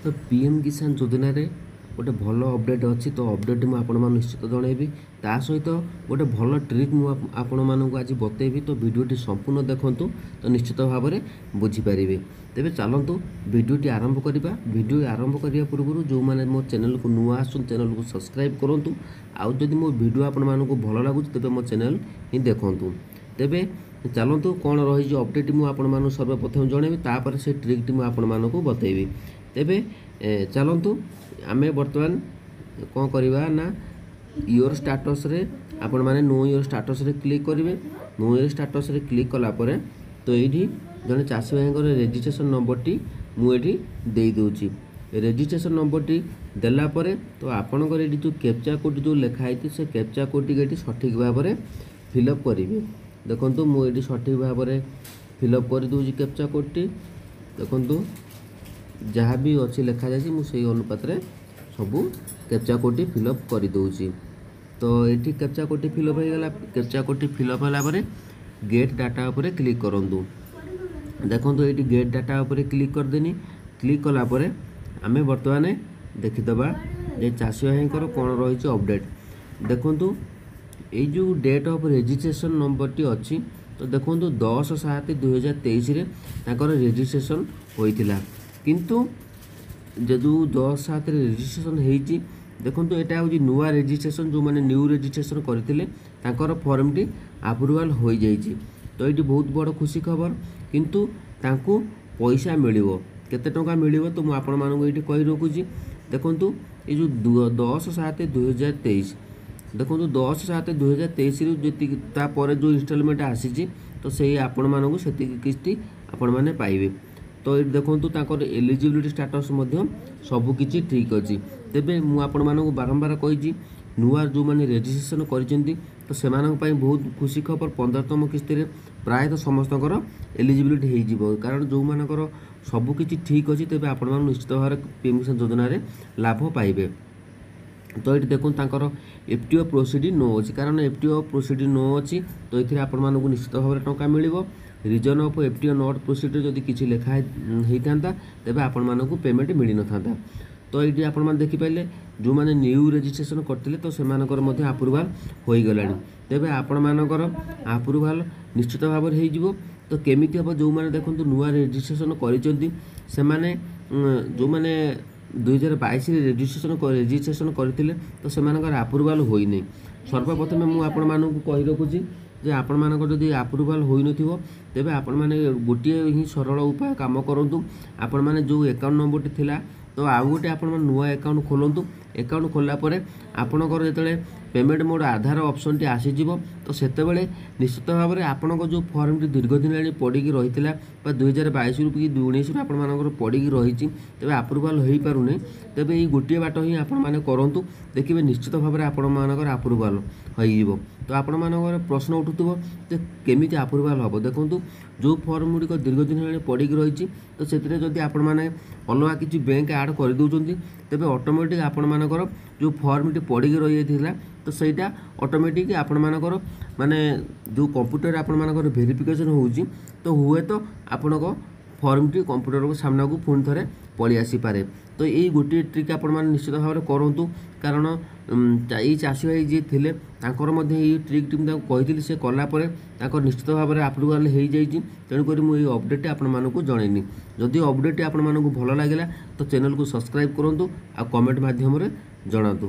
ତ ପିଏମ୍ କିଷାନ ଯୋଜନାରେ ଗୋଟେ ଭଲ ଅପଡ଼େଟ୍ ଅଛି। ତ ଅପଡ଼େଟ୍ ମୁଁ ଆପଣମାନଙ୍କୁ ନିଶ୍ଚିତ ଜଣାଇବି। ତା ସହିତ ଗୋଟେ ଭଲ ଟ୍ରିକ୍ ମୁଁ ଆପଣମାନଙ୍କୁ ଆଜି ବତେଇବି। ତ ଭିଡ଼ିଓଟି ସମ୍ପୂର୍ଣ୍ଣ ଦେଖନ୍ତୁ, ତ ନିଶ୍ଚିତ ଭାବରେ ବୁଝିପାରିବେ। ତେବେ ଚାଲନ୍ତୁ ଭିଡ଼ିଓଟି ଆରମ୍ଭ କରିବା। ଭିଡ଼ିଓ ଆରମ୍ଭ କରିବା ପୂର୍ବରୁ ଯେଉଁମାନେ ମୋ ଚ୍ୟାନେଲକୁ ନୂଆ ଆସୁଛନ୍ତି, ଚ୍ୟାନେଲକୁ ସବସ୍କ୍ରାଇବ୍ କରନ୍ତୁ। ଆଉ ଯଦି ମୋ ଭିଡ଼ିଓ ଆପଣମାନଙ୍କୁ ଭଲ ଲାଗୁଛି, ତେବେ ମୋ ଚ୍ୟାନେଲ ହିଁ ଦେଖନ୍ତୁ। ତେବେ ଚାଲନ୍ତୁ, କ'ଣ ରହିଛି ଅପଡ଼େଟ୍ ମୁଁ ଆପଣମାନଙ୍କୁ ସର୍ବପ୍ରଥମେ ଜଣାଇବି, ତାପରେ ସେ ଟ୍ରିକ୍ଟି ମୁଁ ଆପଣମାନଙ୍କୁ ବତେଇବି। ତେବେ ଚାଲନ୍ତୁ, ଆମେ ବର୍ତ୍ତମାନ କ'ଣ କରିବା ନା your ଷ୍ଟାଟସ୍ରେ ଆପଣମାନେ ନୋ your ଷ୍ଟାଟସ୍ରେ କ୍ଲିକ୍ କରିବେ। ନୋ your ଷ୍ଟାଟସ୍ରେ କ୍ଲିକ୍ କଲା ପରେ ତ ଏଇଠି ଜଣେ ଚାଷୀ ଭାଇଙ୍କର ରେଜିଷ୍ଟ୍ରେସନ୍ ନମ୍ବରଟି ମୁଁ ଏଠି ଦେଇଦେଉଛି। ରେଜିଷ୍ଟ୍ରେସନ୍ ନମ୍ବରଟି ଦେଲା ପରେ ତ ଆପଣଙ୍କର ଏଠି ଯେଉଁ କ୍ୟାପଚା କୋଡ଼୍ ଯେଉଁ ଲେଖା ହେଇଛି, ସେ କ୍ୟାପଚା କୋଡ଼୍ଟିକି ଏଠି ସଠିକ୍ ଭାବରେ ଫିଲ୍ଅପ୍ କରିବେ। ଦେଖନ୍ତୁ, ମୁଁ ଏଠି ସଠିକ୍ ଭାବରେ ଫିଲ୍ଅପ୍ କରିଦେଉଛି କ୍ୟାପଚା କୋଡ଼୍ଟି। ଦେଖନ୍ତୁ, ଯାହା ବି ଅଛି ଲେଖାଯାଇଛି, ମୁଁ ସେଇ ଅନୁପାତରେ ସବୁ କ୍ୟାପଚା କୋଡ଼୍ଟି ଫିଲ୍ଅପ୍ କରିଦେଉଛି। ତ ଏଠି କ୍ୟାପଚା କୋଡ଼୍ଟି ଫିଲ୍ଅପ୍ ହେଇଗଲା। କ୍ୟାପଚା କୋଡ଼୍ଟି ଫିଲ୍ଅପ୍ ହେଲା ପରେ ଗେଟ୍ ଡାଟା ଉପରେ କ୍ଲିକ୍ କରନ୍ତୁ। ଦେଖନ୍ତୁ, ଏଇଠି ଗେଟ୍ ଡାଟା ଉପରେ କ୍ଲିକ୍ କରିଦେନି। କ୍ଲିକ୍ କଲା ପରେ ଆମେ ବର୍ତ୍ତମାନ ଦେଖିଦେବା ଯେ ଚାଷୀ ଭାଇଙ୍କର କ'ଣ ରହିଛି ଅପଡ଼େଟ୍। ଦେଖନ୍ତୁ, ଏଇ ଯେଉଁ ଡେଟ୍ ଅଫ୍ ରେଜିଷ୍ଟ୍ରେସନ୍ ନମ୍ବରଟି ଅଛି, ତ ଦେଖନ୍ତୁ, 10/7/2023ରେ ତାଙ୍କର ରେଜିଷ୍ଟ୍ରେସନ୍ ହୋଇଥିଲା। କିନ୍ତୁ ଯେଉଁ 10/7ରେ ରେଜିଷ୍ଟ୍ରେସନ୍ ହେଇଛି, ଦେଖନ୍ତୁ, ଏଇଟା ହେଉଛି ନୂଆ ରେଜିଷ୍ଟ୍ରେସନ୍। ଯେଉଁମାନେ ନ୍ୟୁ ରେଜିଷ୍ଟ୍ରେସନ୍ କରିଥିଲେ, ତାଙ୍କର ଫର୍ମଟି ଆପ୍ରୁଭାଲ୍ ହୋଇଯାଇଛି। ତ ଏଇଠି ବହୁତ ବଡ଼ ଖୁସି ଖବର। କିନ୍ତୁ ତାଙ୍କୁ ପଇସା ମିଳିବ, କେତେ ଟଙ୍କା ମିଳିବ, ତ ମୁଁ ଆପଣମାନଙ୍କୁ ଏଇଠି କହି ରଖୁଛି। ଦେଖନ୍ତୁ, ଏଇ ଯେଉଁ 10/7/2023, ଦେଖନ୍ତୁ, 10/7/2023ରୁ ଯେତିକି ତାପରେ ଯେଉଁ ଇନଷ୍ଟଲମେଣ୍ଟ ଆସିଛି, ତ ସେଇ ଆପଣମାନଙ୍କୁ ସେତିକି କିସ୍ତି ଆପଣମାନେ ପାଇବେ। ତ ଏଇଠି ଦେଖନ୍ତୁ, ତାଙ୍କର ଏଲିଜିବିଲିଟି ଷ୍ଟାଟସ୍ ମଧ୍ୟ ସବୁକିଛି ଠିକ୍ ଅଛି। ତେବେ ମୁଁ ଆପଣମାନଙ୍କୁ ବାରମ୍ବାର କହିଛି, ନୂଆ ଯେଉଁମାନେ ରେଜିଷ୍ଟ୍ରେସନ୍ କରିଛନ୍ତି, ତ ସେମାନଙ୍କ ପାଇଁ ବହୁତ ଖୁସି ଖବର। 15ତମ କିସ୍ତିରେ ପ୍ରାୟତଃ ସମସ୍ତଙ୍କର ଏଲିଜିବିଲିଟି ହେଇଯିବ। କାରଣ ଯେଉଁମାନଙ୍କର ସବୁକିଛି ଠିକ୍ ଅଛି, ତେବେ ଆପଣମାନେ ନିଶ୍ଚିତ ଭାବରେ ପି ଏମ୍ କିଷାନ ଯୋଜନାରେ ଲାଭ ପାଇବେ। ତ ଏଇଠି ଦେଖନ୍ତୁ, ତାଙ୍କର ଏଫ୍ ଟି ଓ ପ୍ରୋସିଡ଼ିଂ ନୋ ଅଛି। କାରଣ ଏଫ୍ ଟି ଓ ପ୍ରୋସିଡ଼ିଂ ନୋ ଅଛି, ତ ଏଥିରେ ଆପଣମାନଙ୍କୁ ନିଶ୍ଚିତ ଭାବରେ ଟଙ୍କା ମିଳିବ। Reason of FTO not proceed ଯଦି କିଛି ଲେଖା ହେଇଥାନ୍ତା, ତେବେ ଆପଣମାନଙ୍କୁ ପେମେଣ୍ଟ ମିଳିନଥାନ୍ତା। ତ ଏଇଠି ଆପଣମାନେ ଦେଖିପାରିଲେ, ଯେଉଁମାନେ ନ୍ୟୁ ରେଜିଷ୍ଟ୍ରେସନ୍ କରିଥିଲେ, ତ ସେମାନଙ୍କର ମଧ୍ୟ ଆପ୍ରୁଭାଲ୍ ହୋଇଗଲାଣି। ତେବେ ଆପଣମାନଙ୍କର ଆପ୍ରୁଭାଲ୍ ନିଶ୍ଚିତ ଭାବରେ ହେଇଯିବ। ତ କେମିତି ହେବ? ଯେଉଁମାନେ ଦେଖନ୍ତୁ ନୂଆ ରେଜିଷ୍ଟ୍ରେସନ୍ କରିଛନ୍ତି, ସେମାନେ ଯେଉଁମାନେ 2022ରେ ରେଜିଷ୍ଟ୍ରେସନ୍ କରିଥିଲେ, ତ ସେମାନଙ୍କର ଆପ୍ରୁଭାଲ୍ ହୋଇନି। ସର୍ବପ୍ରଥମେ ମୁଁ ଆପଣମାନଙ୍କୁ କହି ରଖୁଛି ଯେ ଆପଣମାନଙ୍କର ଯଦି ଆପ୍ରୁଭାଲ୍ ହୋଇନଥିବ, ତେବେ ଆପଣମାନେ ଗୋଟିଏ ହିଁ ସରଳ ଉପାୟ କାମ କରନ୍ତୁ। ଆପଣମାନେ ଯେଉଁ ଆକାଉଣ୍ଟ ନମ୍ବରଟି ଥିଲା, ତ ଆଉ ଗୋଟେ ଆପଣମାନେ ନୂଆ ଆକାଉଣ୍ଟ ଖୋଲନ୍ତୁ। ଆକାଉଣ୍ଟ ଖୋଲିଲା ପରେ ଆପଣଙ୍କର ଯେତେବେଳେ ପେମେଣ୍ଟ ମୋଡ଼ ଆଧାର ଅପସନ୍ଟି ଆସିଯିବ, ତ ସେତେବେଳେ ନିଶ୍ଚିତ ଭାବରେ ଆପଣଙ୍କ ଯେଉଁ ଫର୍ମଟି ଦୀର୍ଘ ଦିନ ହେଲାଣି ପଡ଼ିକି ରହିଥିଲା ବା 2022ରୁ କି 19ରୁ ଆପଣମାନଙ୍କର ପଡ଼ିକି ରହିଛି, ତେବେ ଆପ୍ରୁଭାଲ୍ ହୋଇପାରୁନି, ତେବେ ଏଇ ଗୋଟିଏ ବାଟ ହିଁ ଆପଣମାନେ କରନ୍ତୁ। ଦେଖିବେ, ନିଶ୍ଚିତ ଭାବରେ ଆପଣମାନଙ୍କର ଆପ୍ରୁଭାଲ୍ ହୋଇଯିବ। ତ ଆପଣମାନଙ୍କର ପ୍ରଶ୍ନ ଉଠୁଥିବ ଯେ କେମିତି ଆପ୍ରୁଭାଲ୍ ହେବ? ଦେଖନ୍ତୁ, ଯେଉଁ ଫର୍ମ ଗୁଡ଼ିକ ଦୀର୍ଘ ଦିନ ହେଲାଣି ପଡ଼ିକି ରହିଛି, ତ ସେଥିରେ ଯଦି ଆପଣମାନେ ଅଲଗା କିଛି ବ୍ୟାଙ୍କ ଆଡ଼୍ କରିଦେଉଛନ୍ତି, ତେବେ ଅଟୋମେଟିକ୍ ଆପଣମାନଙ୍କର ଯେଉଁ ଫର୍ମଟି ପଡ଼ିକି ରହିଯାଇଥିଲା, ତ ସେଇଟା ଅଟୋମେଟିକ୍ ଆପଣମାନଙ୍କର ମାନେ ଯେଉଁ କମ୍ପ୍ୟୁଟରରେ ଆପଣମାନଙ୍କର ଭେରିଫିକେସନ୍ ହେଉଛି, ତ ହୁଏତ ଆପଣଙ୍କ ଫର୍ମଟି କମ୍ପ୍ୟୁଟରକୁ ସାମ୍ନାକୁ ପୁଣି ଥରେ ପଳେଇ ଆସିପାରେ। ତ ଏଇ ଗୋଟିଏ ଟ୍ରିକ୍ ଆପଣମାନେ ନିଶ୍ଚିତ ଭାବରେ କରନ୍ତୁ। କାରଣ ଏଇ ଚାଷୀ ଭାଇ ଯିଏ ଥିଲେ, ତାଙ୍କର ମଧ୍ୟ ଏଇ ଟ୍ରିକ୍ଟି ମୁଁ ତାଙ୍କୁ କହିଥିଲି। ସେ କଲା ପରେ ତାଙ୍କର ନିଶ୍ଚିତ ଭାବରେ ଆପ୍ରୁଭାଲ୍ ହେଇଯାଇଛି। ତେଣୁକରି ମୁଁ ଏଇ ଅପଡ଼େଟ୍ଟି ଆପଣମାନଙ୍କୁ ଜଣେଇନି। ଯଦି ଅପଡ଼େଟ୍ଟି ଆପଣମାନଙ୍କୁ ଭଲ ଲାଗିଲା, ତ ଚ୍ୟାନେଲକୁ ସବସ୍କ୍ରାଇବ୍ କରନ୍ତୁ ଆଉ କମେଣ୍ଟ ମାଧ୍ୟମରେ ଜଣାନ୍ତୁ।